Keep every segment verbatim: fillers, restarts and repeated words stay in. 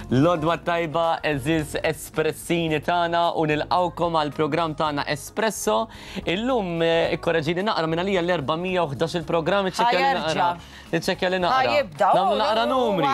L-għodwa t-tajba, għeżież espressini tagħna, u nilqgħukom għal programm tagħna Espresso. Illum ikkoreġini naqra minn għalija l-erba' mija u ħdax il-programm iċċekkja li naqra. Iċċekkja li naqra. Ħajibda. Nagħmlu naqra numri.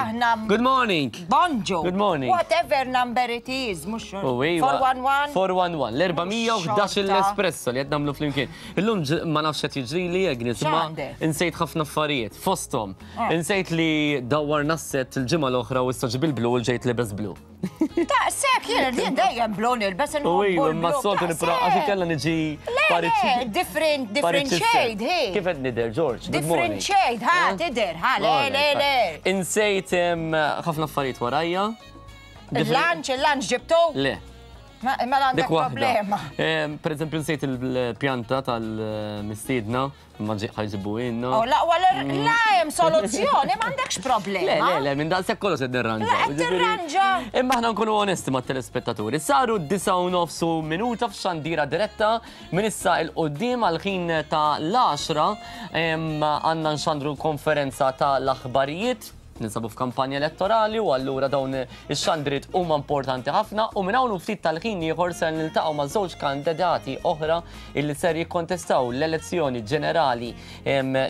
Good morning. Bonġu. Good morning. Whatever number it is, mhux four one one. four one one. L-erba' mija u ħdax l-Espresso li qed nagħmlu flimkien. Illum ma nafx qed jiġrili Agnes, ma insejt ħafna affarijiet fosthom. Insejt li dawwarna s-set il-ġimgħa l-oħra u issa ġib il-blu u ġejt libes blu. Ta' sekk, jien jien dejjem blu nilbes U iva, imma s-soltu nipra għax kellha niġi Le, different, different shade, hey. Kif qed nidher, George? Different shade, ha, tidher, ha, le, le, le. Insejt ħafna affarijiet warajja. Il-lunch, il-lunch ġibtu? Le. Mela għandek problema. Per eżempju, nsejt il-pjanta tal-mistiedna, ma ħajġibu inna. Oh, la, la, hemm soluzzjoni, m'għandekx problema. Le, le, le, minn daqshekk kollox qed nirranġa. La, qed tirranġa. Imma aħna nkunu onesti mat-telespettaturi. Saru disgħa u nofs minuta f'xandira diretta minn issa il quddiem għal ħin ta' l-għaxra għandna nxandru konferenza ta' l-aħbarijiet. Ninsabu f'kampanja elettorali u allura dawn ix-xandriet huma importanti ħafna u minn hawn ftit tal-ħin ieħor ser niltaqgħu ma' żewġ kandidati oħra illi ser jikkontestaw l-elezzjoni ġenerali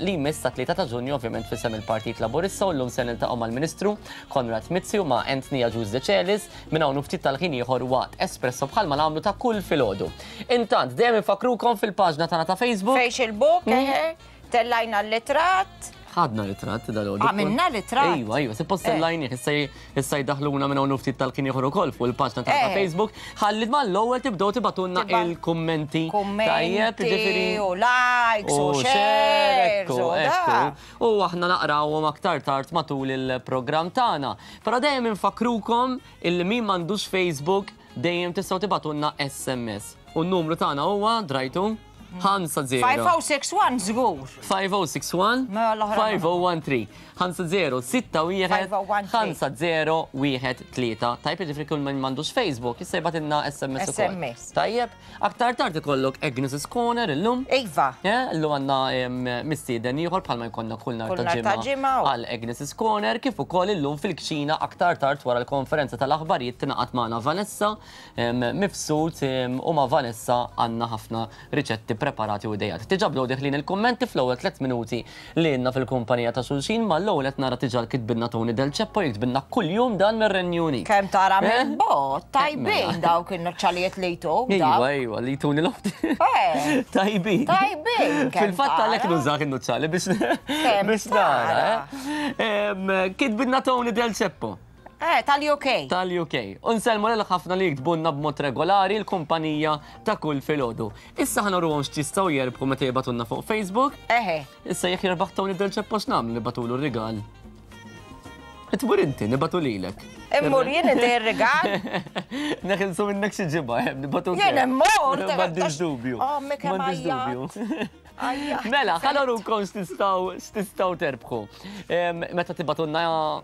li jmiss ta' tlieta ta' Ġunju ovvjament f'isem il-Partit Laburista u llum ser niltaqgħu mal-Ministru Konrad Mizzi u ma' Anthony Agius Decelis minn hawn ftit tal-ħin ieħor waqt Espresso bħalma nagħmlu ta' kull filgħodu. Intant dejjem infakkrukom fil-paġna tagħna ta' Facebook. Facebook, eħe, tellajna l-litratt. Ħadna ritratt dal-għodu. Għamilna ritratt. Ejwa, ejwa, suppost tellajni, issa jdaħluna minn hawn ftit tal-kien ieħor ukoll fuq il-paġna ta' Facebook. Ħalli mal-ewwel tibdew tibatulna il-kummenti. Tajjeb, jiġifieri. U likes u shares. U aħna naqrawhom aktar tard matul il-programm tagħna. Però dejjem infakkrukom illi min m'għandux Facebook dejjem tistgħu tibatulna S M S. U n-numru tagħna huwa drajtu ħamsa zero. five oh six one żgur. five oh six one, five oh one three. ħamsa zero, sitta wieħed, ħamsa zero, wieħed tlieta. Tajjeb, jiġifieri kull min m'għandux Facebook, issa jibgħatilna S M S ukoll. S M S. Tajjeb, aktar tard ikollok Agnes' Corner illum. Iva. Illum għandna mistieden ieħor bħalma jkollna kull nhar ta' ġimgħa għal Agnes' Corner, kif ukoll illum fil-kċina aktar tard wara l-konferenza tal-aħbarijiet tingħaqad magħna Vanessa Mifsud u ma' Vanessa għandna ħafna riċetti preparati u idejat. Diġà bdew deħlin il-kummenti fl-ewwel tliet minuti li għandna fil-kumpanija ta' xulxin, mal-ewwel qed nara diġà kitbilna Tony Del Ceppo jiktbilna kuljum dan mir-Renju Unit. Kemm tara minn bot, tajbin dawk in-noċċalijiet li jtuk. Iva, iva, li jtuni l-oħti. Tajbin. Tajbin. Fil-fatt għalhekk nużak in-noċċali biex nara. Kitbilna Tony Del Ceppo. Eh, tal-U K. Tal-U K. Unsellmu lil ħafna li jiktbulna b'mod regolari l-kumpanija ta' kull filgħodu. Issa ħa nuruhom x'jistgħu jerbħu meta jibgħatulna fuq Facebook. Eħe. Issa jekk jirbaħ Tony Del Ceppo x'nagħmlu nibgħatulu r-rigal. Tmur inti, nibgħatu lilek. Immur jien inti r-rigal? Neħilsu minnek xi ġimgħa, nibgħatu. Jien immur. M'għandix dubju. Oh, M'għandix dubju. Mela, ħa nurukom x'tistgħu terbħu. Meta tibgħatulna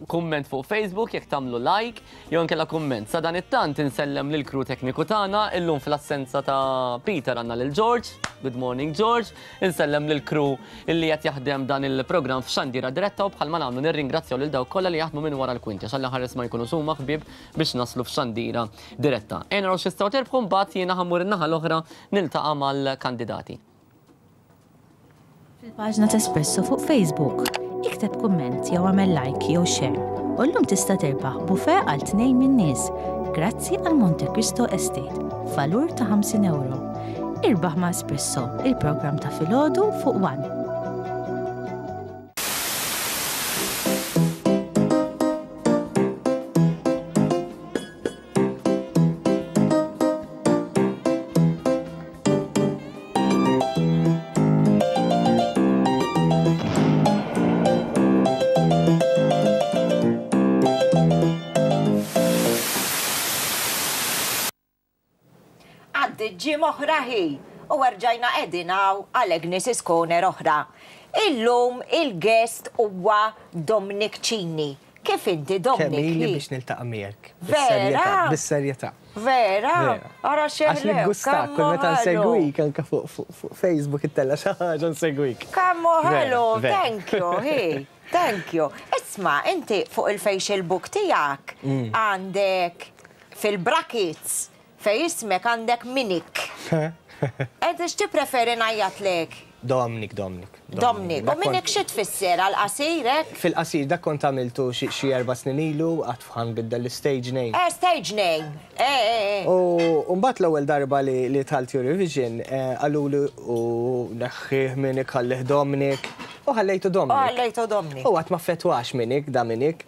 kumment fuq Facebook, jekk tagħmlu like, jew inkella kumment. Sa dan it-tant insellem lil crew tekniku tagħna, illum fl-assenza ta' Peter għandna lil George. Good morning George. Insellem lil crew illi qed jaħdem dan il-programm f'xandira diretta u bħalma nagħmlu nirringrazzjaw lil dawk kollha li jaħdmu minn wara l-kwinti għax ħares ma jkunu suma ħbieb biex naslu f'xandira diretta. Ejja naraw x'tistgħu terbħu mbagħad jiena ħammur in-naħa l-oħra niltaqa' mal-kandidati. Fil-paġna ta' Espresso fuq Facebook, ikteb kumment jew għamel like jew share. U llum tista' terbaħ buffet għal tnejn min-nies grazzi għal Monte Cristo Estate, valur ta' ħamsin euro. Irbaħ ma' Espresso, il-programm ta' filgħodu fuq One. Ġim oħra hi u erġajna qegħdin hawn għal Agnes' Corner oħra. Illum il-guest huwa Dominic Cini. Kif inti Dominic? Kemm ili biex niltaqa' miegħek. Vera? Bis-serjetà. Vera? Ara xeħlew. Għax niggusta kull meta nsegwik anke fuq Facebook ittella' xi ħaġa nsegwik. Kemm ħelu, thank you, hi. Thank you. Isma, inti fuq il-facial book tiegħek Mm. għandek fil-brackets fej ismek għandek Minik. Enti x'ti preferi ngħajjatlek? Dominic, Dominic. Dominic. U Dak Minik kont- xi tfisser għal-qasirek? Fil-qasir, dak kont għamiltu xi xi erba' snin ilu, għax ħa nbiddel l-stage name. Eh, stage name. Eh, eh, eh. U mbagħad l-ewwel darba li li dħalt Eurovision, eh, qaluli u neħħih Minik, ħallih Dominic, u ħallejtu U Dominic. ħallejtu Dominic. U għad ma fetwax Minik, da Minik.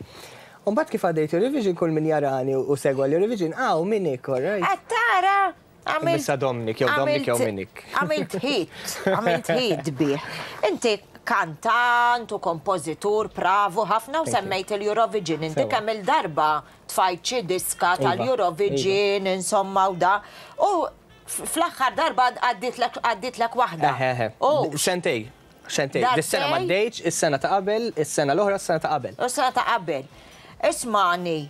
U mbagħad kif għaddejt Eurovision, kull min jarani u segwa l-Eurovision, aw Minik, all right. Qed tara? Għamilt- Issa Dominic, jew Dominic jew għamilt- Minik. Għamilt hit, għamilt hit bih. Inti kantant u kompożitur, bravu ħafna u Thank you. semmejt il-Eurovision. Inti Sewa. kemm il-darba tfajt xi diska Iva, tal-Eurovision, insomma u da. U f- fl-aħħar darba għadditlek għadditlek waħda. Eħe, U Sentej, sentej. Darbtej? Dis-sena ma ddejċ, is-sena ta' qabel, is-sena l-oħra, is-sena ta' qabel. U sena ta' qabel. Ismani,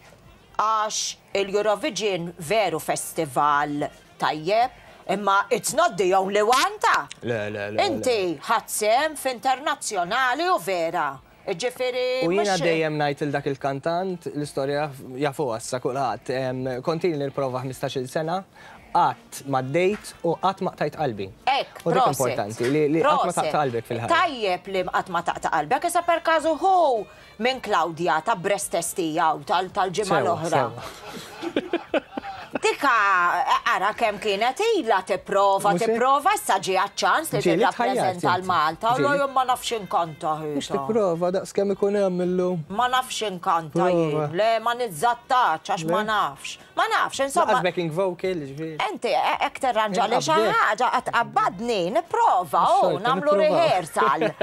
għax il-Eurovision veru festival tajjeb, imma it's not the only one ta' Le, le, le. Inti ħadt sehem f'internazzjonali u vera. Ġifieri. U jiena mhux- dejjem ngħid il dak il-kantant, l-istorja jafu issa kulħadd. Em, Kont ili nipprova ħmistax-il sena, qatt ma ddejt u qatt ma qtajt qalbi. Ek, U dik proset. importanti li li qatt ma Proset. taqta' qalbek fil-ħajja. Tajjeb li qatt ma taqta' qalbek, issa per każu hu minn Claudia ta' breast test tiegħu tal- tal-ġimgħa Sewa, l-oħra. sewa. Dika, ara kemm kienet ilha tipprova, Mhux hekk? tipprova, issa ġie ċans li Ġieli tħajjart tirrappreżenta inti. l-Malta. U Ġieli. jien ma nafx inkanta Mhux ħita. tipprova daqs kemm ikun hemm illum. Ma nafx inkanta Prova. jien, le ma nizzattax għax ma Le? nafx. Ma nafx, insomma. Lanqas backing vocal, ġifieri. Inti, hekk terranġa li xi Inqabdek. ħaġa qed tqabbadni, nipprova, u Xorta, nagħmlu nipprovaw. rehearsal.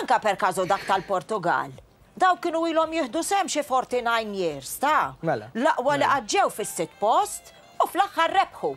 Anka per każu dak tal-Portugal. Daw kienu ilhom jieħdu sehem xi forty-nine years, ta' Mela. L-aqwa li qatt ġew fis-sitt post u fl-aħħar rebħu.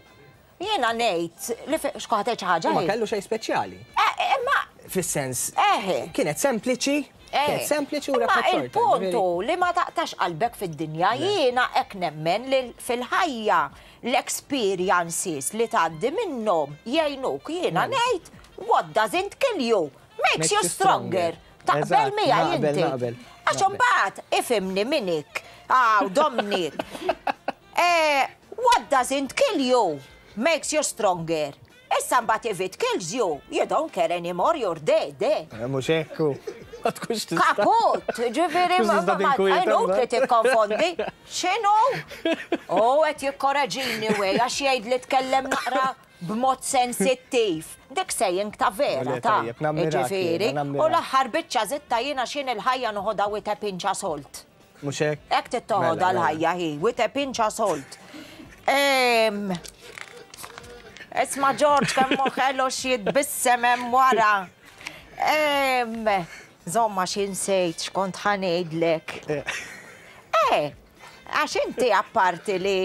Jiena ngħid li x'kont xi ħaġa. U ma hi? kellu xejn speċjali. Eh, Imma Fis-sens, Eħe. kienet sempliċi, kienet sempliċi u Imma rebħet xorta. il-puntu li ma taqtax qalbek fid-dinja, jiena hekk nemmen li fil-ħajja l-experiences li tgħaddi minnhom jgħinuk. Jiena ngħid, what doesn't kill you makes you stronger. Taqbel Eżatt, miegħi naqbel, inti? naqbel, Għax naqbel. imbagħad ifhimni Minik, aw Dominic. Eh, what doesn't kill you makes you stronger. Issa mbagħad if it kills you, you don't care anymore, you're dead, eh? Eh, mhux hekk. Ma tkunx tista'. Kaput, ġifieri, Tkunx ma tista' ma- tinkwita, inutli mbagħad. tikkonfondi. X'inhu? U qed jikkoreġini wej għax jgħid li tkellem naqra b'mod sensittiv. Dik saying ta' vera Le, ta' tajjeb, nammirak ġifieri. jiena, nammirak. U l-aħħar biċċa zitta jiena xin il-ħajja noħodha with a pinch of salt. Mhux hekk? Hekk tittoħodha Mela, mela. l-ħajja hi, with a pinch of salt. Em, Isma' George kemm moħelu x'jitbissem hemm wara. Em, Zomma xi nsejt x'kont ħa ngħidlek. Eh, għax inti apparti li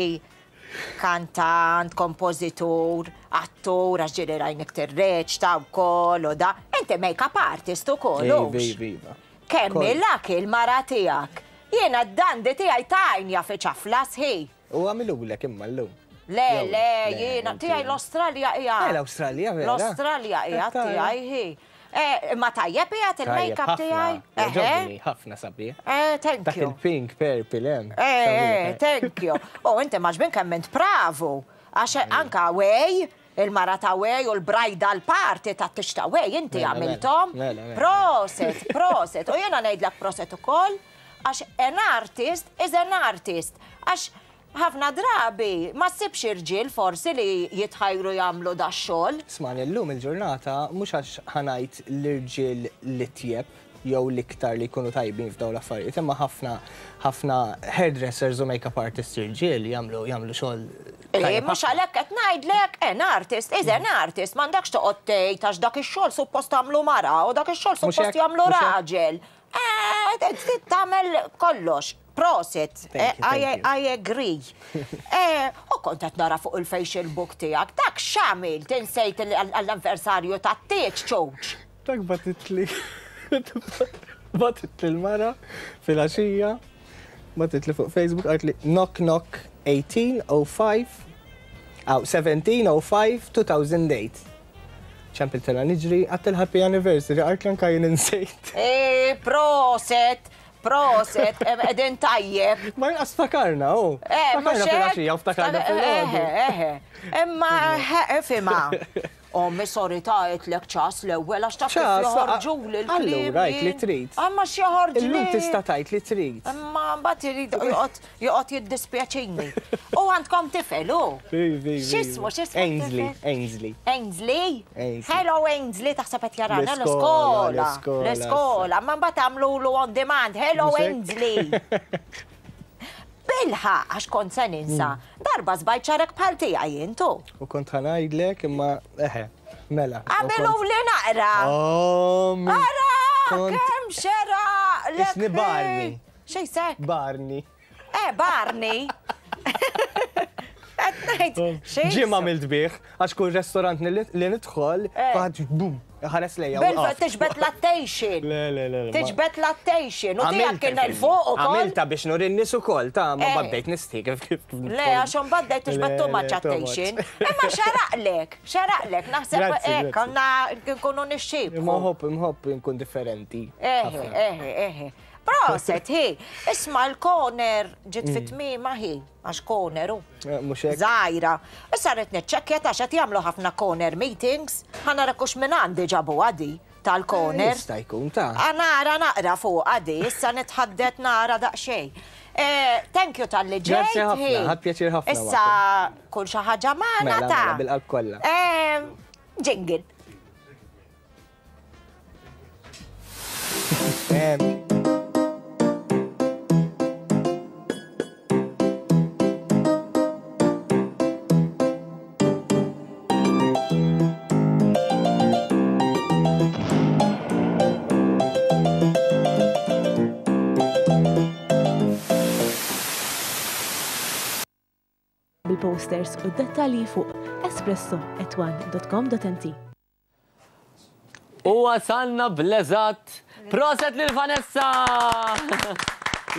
kantant, kompożitur, attur, għax ġieli rajnik tirreċta wkoll u da, inti make-up artist ukoll. Iva, hux? iva, iva. Kemm Koll. il-lak il-mara tiegħek. Jiena d-dandi tiegħi tajnja fi ċafla sħi. U għamilulek imma llum. Le, Jew, le, jiena, inti- tiegħi l-Australja hija. Eh, l-Awstralja, vera? L-Australja hija Tara. tiegħi hi. Eh, ma tajjeb hija il-make-up Tajjeb, tiegħi? ħafna. Jogħġobni, ħafna sabiħ. Eh, thank Dak you. il-pink, purple, hemm. Eh, eh, Sabiħ, thank you. U inti maġbin kemm int pravu. Għax anka Way, il-mara ta' Way u l-bridal party ta' tixta Way, inti Mela, għamiltom. mela, mela. Proset, proset. U jena ngħidlek proset ukoll, għax an artist is an artist. Għax ħafna drabi ma ssibx irġiel forsi li jitħajru jagħmlu da xogħol. Smani, llum il-ġurnata, mhux għax ħa ngħid l-irġiel li tjeb jew l-iktar li jkunu tajbin f'dawn l-affarijiet, imma ħafna ħafna hairdressers u make-up artists irġiel jagħmlu jagħmlu xogħol Eh, tajjeb mhux ħafna. għalhekk qed ngħidlek an artist is an artist, m'għandekx toqgħod tgħid għax dak ix-xogħol suppost tagħmlu mara u dak ix-xogħol Mhux suppost hekk, jagħmlu mhux hekk. raġel. Eh, trid tagħmel kollox. Proset, Thank you, eh, I, thank you. I agree. Eh, U kont qed nara fuq il-facial book tiegħek, dak x'għamilt insejt għall-anniversarju tat-tieġ ċoċ. Dak bagħtitli bagħtitli l-mara fil-għaxija, bagħtitli fuq Facebook, qaltli knock knock eighteen oh five, aw seventeen oh five two thousand eight. Ċempiltilha niġri, għedtilha happy anniversary, għart anka jien insejt. Eh, proset, proset, qegħdin tajjeb. Ma jinqas ftakarna, oh. Eh, Ftakarna fil-għaxija u ftakarna fil-għodu. Eħe, imma fima. Ommi, sorry, ta' għedtlek ċas l-ewwel għax taf kif joħorġu l-kliem. Allura, għid li trid. Imma x'joħorġu. Illum tista' tgħid li trid. Imma mbagħad irid joqgħod jiddispjaċini. U għandkom tifel, hu? X'ismu, x'ismu? Ainsley, Ainsley. Ainsley? Hello Ainsley, taħseb qed jarana l-iskola. L-iskola, ma mbagħad għamlulu on demand. Hello Ainsley. Bilħa, għax kont se ninsa. Darba żbajt xagħrek bħal tiegħi intu. U kont ħa ngħidlek imma eħe, mela. Għamilu li naqra. Ara, kemm xera. Isni Barney. Xejsek? Barney. Eh, Barney. Ġim għamilt bih, għax kull restorant li nidħol, faħad bum, ħares lejja. Bilfa, tiġbed l-attention. Le, le, le. Tiġbed l-attention. U tiegħek kien il-fuq ukoll. Għamilta biex nuri n-nies ukoll, ta' ma baddejt nistħi kif kif. Le, għax baddejt tiġbed too much attention. Imma xaraqlek, xaraqlek, naħseb hekk għandna nkunu nixxieb. Imma ħobb, imħobb nkun differenti. Eħe, eħe, eħe. Proset, hi, isma l-corner ġiet fit-tmiema hi, għax corner u. Żgħira. Issa rrid niċċekkja ta' x'qed jagħmlu ħafna corner meetings, ħa nara kux minn għandi ġabu għadi tal-corner. Jista' jkun ta' Nara naqra fuq għadi, issa nitħaddet nara daqsxejn. Thank you talli ġejt. Grazzi ħafna, ħadt pjaċir ħafna. Issa kull xi ħaġa magħna ta' bil-qalb kollha. Jingle. Bil-posters u d-dettalji fuq espresso at one dot com dot m t. U wasalna bl-eżatt. Proset lil Vanessa!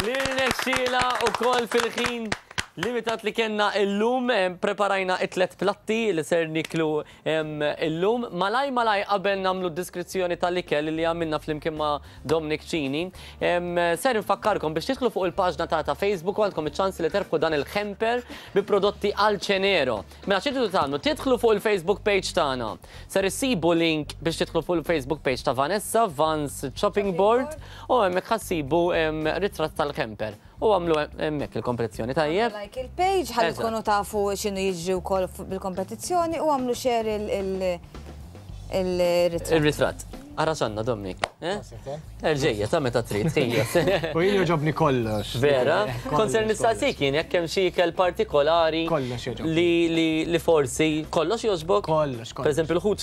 Li rnexxiela wkoll fil-ħin limitat li kellna illum, preparajna it-tlet platti li ser niklu illum. Malaj malaj qabel nagħmlu deskrizzjoni tal-ikel li għamilna flimkien ma' Dominic Cini. Ser nfakkarkom biex tidħlu fuq il-paġna ta' ta' Facebook u għandkom iċ-ċans li terfqu dan il-hamper bi prodotti għal ċenero. Mela xi tridu tagħmlu? Tidħlu fuq il-Facebook page tagħna. Ser issibu link biex tidħlu fuq il-Facebook page ta' Vanessa, Vans Chopping Board, u hemmhekk ħassibu ritratt tal-hamper. U għamlu hemmhekk il-kompetizzjoni, tajjeb? Like il-page, ħalli tkunu tafu x'inhu jiġri wkoll bil-kompetizzjoni u għamlu share il-ritratt. Il-ritratt. Ara x'għandna, Dominic. Ġejja, ta' meta trid, ħejja. U jien jogħġobni kollox. Vera? Kont ser nistaqsik jien jekk hemm xi ikel partikolari. Kollox jogħġobni. Li forsi kollox jogħġbok? Kollox, kollox. Per eżempju, l-ħut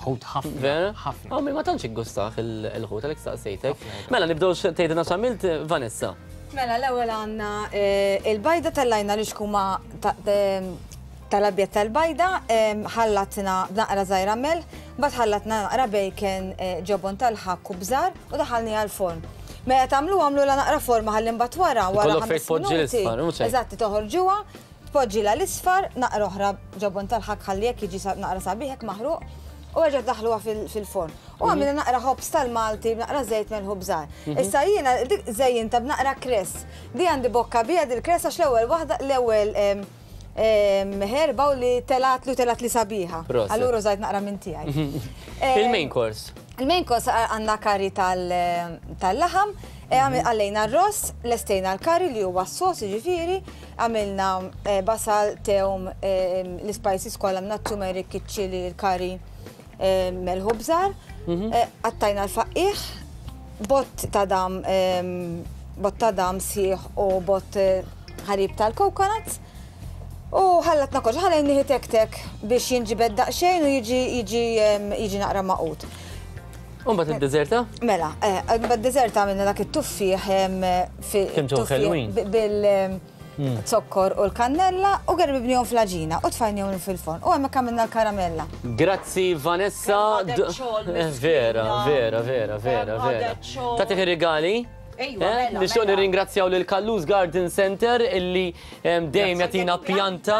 ħut ħafna. Vera? Ħafna. Għammi ma tantx iggustaħ il-ħut għalhekk staqsejtek. Mela nibdew tgħidilna x'għamilt, Vanessa. Mela, l-ewwel għandna il-bajda tellajna li xkuma tal-abjad tal-bajda, ħallatna naqra żgħira melħ, mbagħad ħallatna naqra bacon, ġobon tal-ħakk u bżar u daħalni għall-forn. Mela tagħmlu għamlu la naqra forma ħalli mbagħad wara wara ħames minuti. Eżatt, toħorġuha, tpoġġilha l-isfar, naqra oħra ġobon tal-ħakk ħalli jekk jiġi naqra sabiħ hekk maħruq. U għagħat daħluha fil-forn. U għamilna naqra ħobż tal-Malti, naqra żejt melħu bżar. Issa jiena dik żejjinta b'naqra kress. Di għandi bokka bija dil-kress għax l-ewwel waħda l-ewwel ħerba u li telat li telat li sabiħa. Allura użajt naqra minn tiegħi. Il-main course. Il-main course għandna kari tal-laħam, għallejna r-ross, lestejna l-kari li huwa s-sos jiġifieri, għamilna basal, tewm, l-spices kollha għamilna t-turmeric, iċ-ċili, l-kari, melħu bżar, qattajna l-faqqiħ, bott ta' dam, bott ta' dam sħiħ u bott ħalib tal-coconuts. U ħallatna kollox, ħallejnieh tek-tek biex jinġibed daqsxejn u jiġi jiġi jiġi naqra maqut. U mbagħad id-deżerta? Mela, mbagħad id-deżerta għamilna dak it-tuffieħ Kemm ġew ħelwin. bil-zokkor u l-kannella u gerbibnihom fl-għaġina u tfajnihom fil-forn. U hemmhekk għamilna l-karamella. Grazzi Vanessa. Vera, vera, vera, vera, vera. Tagħtik ir-rigali? Nixtieq nirringrazzjaw lil Callus Garden Center illi dejjem jagħtina pjanta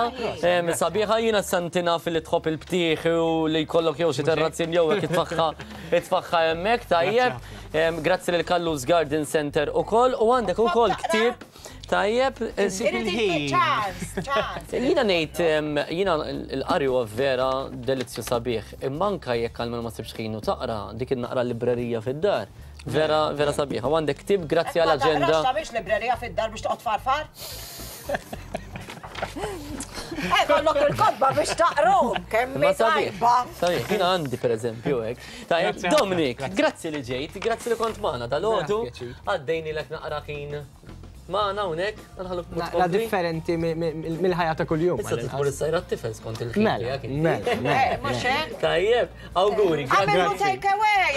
sabiħa. Jiena santina fil tħobb il-btieħ u li jkollok jew xi terrazzin jew hekk itfaħħa itfaħħa hemmhekk tajjeb. Grazzi lil Callus Garden Center ukoll u għandek ukoll ktieb tajjeb. Jiena ngħid jiena l-qari huwa vera delizzju sabiħ, imma anke jekk għalmenu ma sibx ħin u taqra dik in-naqra librerija fid-dar. Vera, vera sabiħa. U għandek ktieb grazzi għall-aġenda. Ma taqrax librerija fid-dar biex toqgħod farfar? Eh, kollok il-kotba biex taqrom, kemm tajba. Sabiħ, jiena għandi pereżempju hekk. Tajjeb, Dominic, grazzi li ġejt, grazzi li kont magħna dalgħodu. Għaddejnilek naqra ħin magħna hawnhekk, nħalluk La differenti mill-ħajja ta' kuljum. Issa tmur issajra t-tifel skont il-ħin tiegħek. Mela, mhux hekk. Tajjeb, awguri, grazzi. Take away,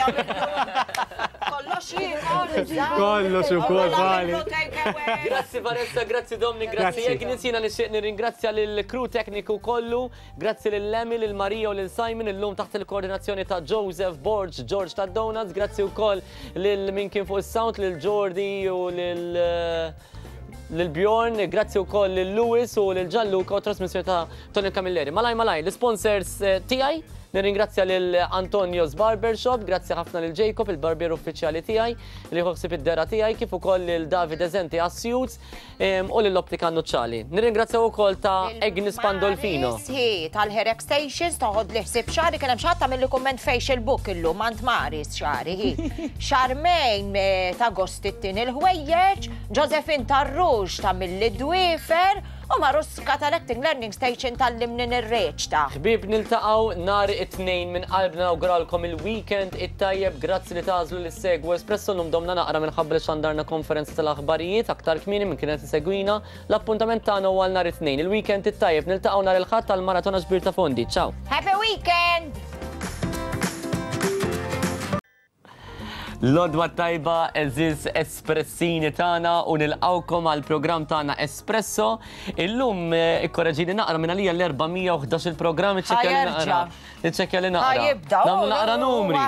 kollox jiekol. Kollox ukoll vali. Grazzi Vanessa, grazzi Dominic, grazzi Agnes. Jiena nixtieq nirringrazzja lill-crew tekniku kollu, grazzi lil Emmy, lil Maria u lil Simon illum taħt il-koordinazzjoni ta' Joseph Borg, George ta' Donuts, grazzi wkoll lil min kien fuq is-sound, lil Jordi u lil lil Bjorn, grazzi wkoll lil Lewis u lil Gianluca u trasmissjoni ta' Tony Camilleri. Malaj malaj, l-sponsors tiegħi, nirringrazzja lil Antonio's Barbershop, grazzi ħafna lil Jacob, il-barbier uffiċjali tiegħi, li ħossib id-dera tiegħi, kif ukoll lil David Ezenti għas-suits u lil Optika Nucciali. Nirringrazzja wkoll ta' Agnes Pandolfino. Tal-Hair Extensions, toħod li ħsib xagħri, kien hemm xi ħadd tagħmel li kumment facial book illum għand Maris xagħri hi. Charmaine ta' Gostittin il-ħwejjeġ, Josephine Tarrux ta' mill-Dwifer u Maruska tal-Acting Learning Station tal-Limnin ir-Reċta. Ħbieb, niltaqgħu nhar it-tnejn minn qalbna nawguralkom il-weekend it-tajjeb, grazzi li tagħżlu li ssegwu Espresso. Llum domna naqra minħabba li xandarna konferenza tal-aħbarijiet aktar kmieni minn kienet isegwina. L-appuntament tagħna huwa nhar it-tnejn. Il-weekend it-tajjeb, niltaqgħu nhar il-Ħadd tal-Maratona Ġbir ta' Fondi. Ciao. Happy weekend! L-odwa tajba eżiz espressini tagħna u nilqawkom għal programm tagħna Espresso. Illum ikkoreġini naqra minn għalija l-erba' mija u ħdax il-programm iċċekkja li naqra. Iċċekkja li naqra. Ħajibda. Nagħmlu naqra numri.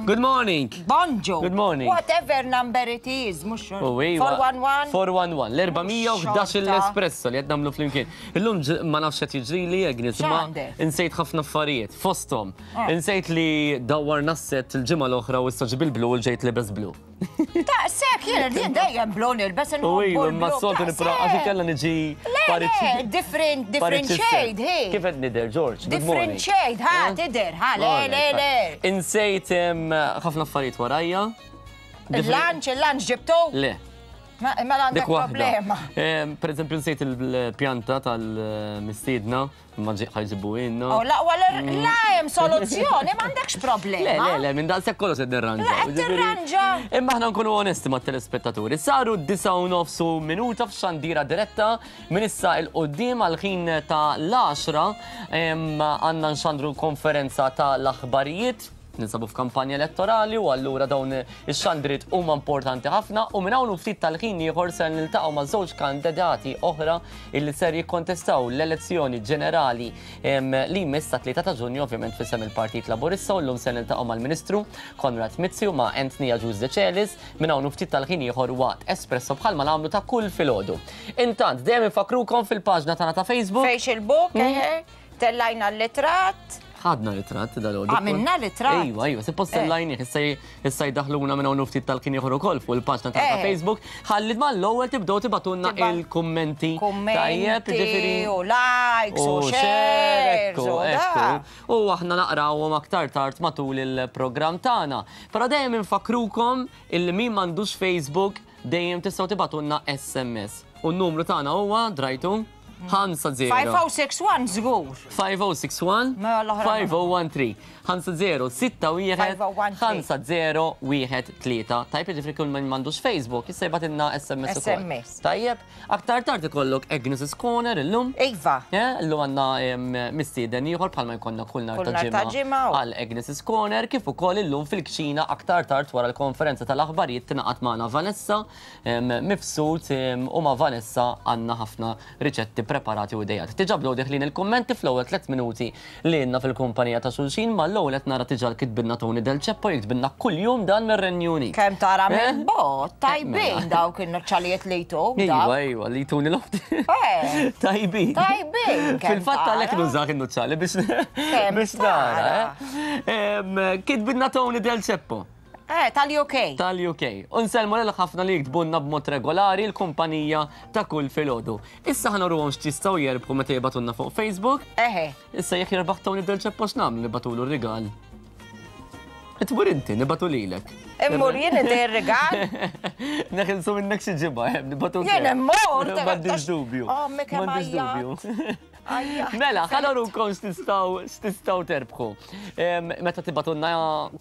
Good morning. Bonġu. Good morning. Whatever number it is, mhux four one one. four one one. L-erba' mija u ħdax l-Espresso li qed nagħmlu flimkien. Illum ma nafx qed jiġrili Agnes, ma insejt ħafna affarijiet fosthom. Insejt li dawwarna s-set il-ġimgħa l-oħra u issa ġibil blu u ġejt libes blu. Ta' sekk, jien jien dejjem blu nilbes U iva, ma s-soltu nipra, għax kellha niġi. Le, different, different shade, hey. Kif qed nidher, George? Different shade, ha, tidher, ha, le, le, le. Insejt ħafna affarijiet warajja. Il-lunch, il-lunch ġibtu? Le. Mela għandek problema. Per eżempju, nsejt il-pjanta tal-mistiedna, ma ħajġibu inna. Oh, la, la, hemm soluzzjoni, ma għandekx problema. Le, le, le, minn daqshekk kollox qed nirranġa. Le, qed tirranġa. Imma aħna nkunu onesti mat-telespettaturi. Saru disgħa u nofs minuta f'xandira diretta minn issa il quddiem għal ħin ta' l-għaxra għandna nxandru konferenza ta' l-aħbarijiet. Ninsabu f'kampanja elettorali u allura dawn ix-xandriet huma importanti ħafna u minn hawn ftit tal-ħin ieħor ser niltaqgħu ma' żewġ kandidati oħra illi ser jikkontestaw l-elezzjoni ġenerali li jmiss sa tlieta ta' Ġunju ovvjament f'isem il-Partit Laburista u llum ser niltaqgħu mal-Ministru Konrad Mizzi u ma' Anthony Agius Decelis minn hawn ftit tal-ħin ieħor waqt Espresso bħalma nagħmlu ta' kull filgħodu. Intant dejjem infakrukom fil-paġna tagħna ta' Facebook. Facebook, tellajna l-litratt. Ħadna ritratt dal-għodu. Għamilna ritratt. Ejwa, ejwa, suppost tellajnih, issa jdaħluna minn hawn ftit tal-kien ieħor ukoll fuq il-paġna ta' Facebook. Ħalli mal-ewwel tibdew tibgħatulna il-kummenti. Tajjeb, jiġifieri. U likes u shares. U aħna naqrawhom aktar tard matul il-programm tagħna. Però dejjem infakrukom illi min m'għandux Facebook dejjem tistgħu tibgħatulna S M S. U n-numru tagħna huwa drajtu ħamsa zero. five oh six one żgur. five oh six one five oh one three. ħamsa zero sitta wieħed ħamsa zero wieħed tlieta. Tajjeb, jiġifieri kull min m'għandux Facebook issa jibgħatilna S M S ukoll. S M S. Tajjeb, aktar tard ikollok Agnes' Corner illum. Iva. Illum għandna mistieden ieħor bħalma jkollna kull nhar ta' ġimgħa għal Agnes' Corner, kif ukoll illum fil-kċina aktar tard wara l-konferenza tal-aħbarijiet tingħaqad magħna Vanessa Mifsud u ma' Vanessa għandna ħafna riċetti preparati u idejat. Diġà bdew deħlin il-kummenti fl-ewwel tliet minuti li għandna fil-kumpanija ta' xulxin, ma l-ewwel qed nara diġà kitbilna Tony Del Ceppo, jiktbilna kuljum dan mir-Renju Unit. Kemm tara Eh? minn bot, tajbin Mela. dawk in-nuċċalijiet li jtuk. Iva, iva, li jtuni l-ofti. Eh. Tajbin. Tajbin, kemm Fil-fatt tara. għalhekk nużah in-nuċċali biex Kemm biex nara. eh. Em, Kitbilna Tony Del Ceppo. Eh, tal-U K. Tal-U K. Unsellmu lil ħafna li jiktbunna b'mod regolari l-kumpanija ta' kull filgħodu. Issa ħa nuruhom x'jistgħu jerbħu meta jibagħtulna fuq Facebook. Eħe. Issa jekk jirbaħ Tony Del Ceppo x'nagħmlu, nibagħtulu r-rigal? Tmur inti, nibagħtu lilek. Immur jien inti r-rigal. Neħilsu minnek xi ġimgħa, eh, nibagħtu. Jien immur. M'għandix dubju. Oh, mi kemm M'għandix dubju. Ajja. Mela, ħa nurukom x'tistgħu x'tistgħu terbħu. Em, Meta tibagħtulna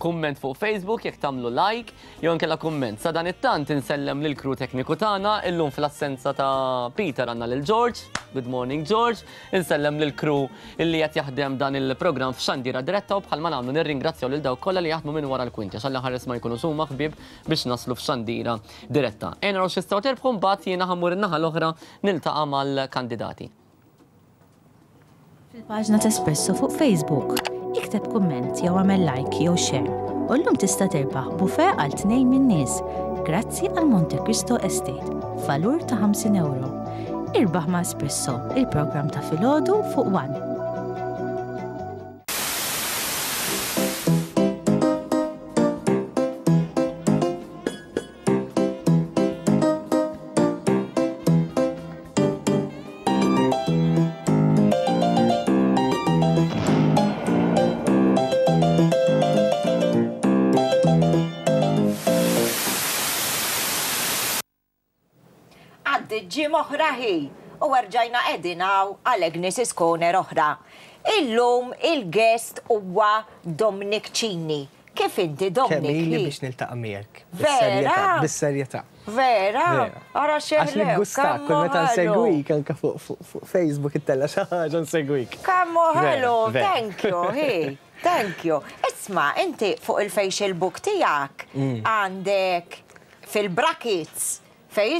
kumment fuq Facebook, jekk tagħmlu like, jew inkella kumment. Sa dan it-tant insellem lil crew tekniku tagħna, illum fl-assenza ta' Peter għandna lil George. Good morning, George. Insellem lil crew illi qed jaħdem dan il-programm f'Xandira Diretta u bħalma nagħmlu nirringrazzjaw lil dawk kollha li jaħdmu minn wara l-kwinti għax ħares ma jkunu suma ħbieb biex naslu f'Xandira Diretta. Ejja naraw x'tistgħu terbħu, mbagħad jiena ħa mmur in-naħa l-oħra niltaqa' mal-kandidati. Fil-paġna ta' Espresso fuq Facebook, ikteb kumment jew għamel like jew share. U llum tista' terbaħ buffet għal tnejn minn nies grazzi għal Monte Cristo Estate, valur ta' ħamsin euro. Irbaħ ma' Espresso, il-programm ta' filgħodu fuq One. Għaddi ġimgħa oħra ħi u rġajna qegħdin hawn għal Agnes Corner oħra. Illum il-guest huwa Dominic Cini. Kif inti, Kemm Dominic? ili Hi? biex niltaqa' miegħek. Vera? Bis-serjetà. Vera? Vera. Ara Għax xeħlew. niggustak, kull meta nsegwik anke fuq fuq- fuq Facebook ittella' xi ħaġa nsegwik. Kemm hu Vera, ħelu, vera. Thank you, hi. Thank you. Isma, inti fuq il-Facebook tiegħek Mm. għandek fil-brackets fej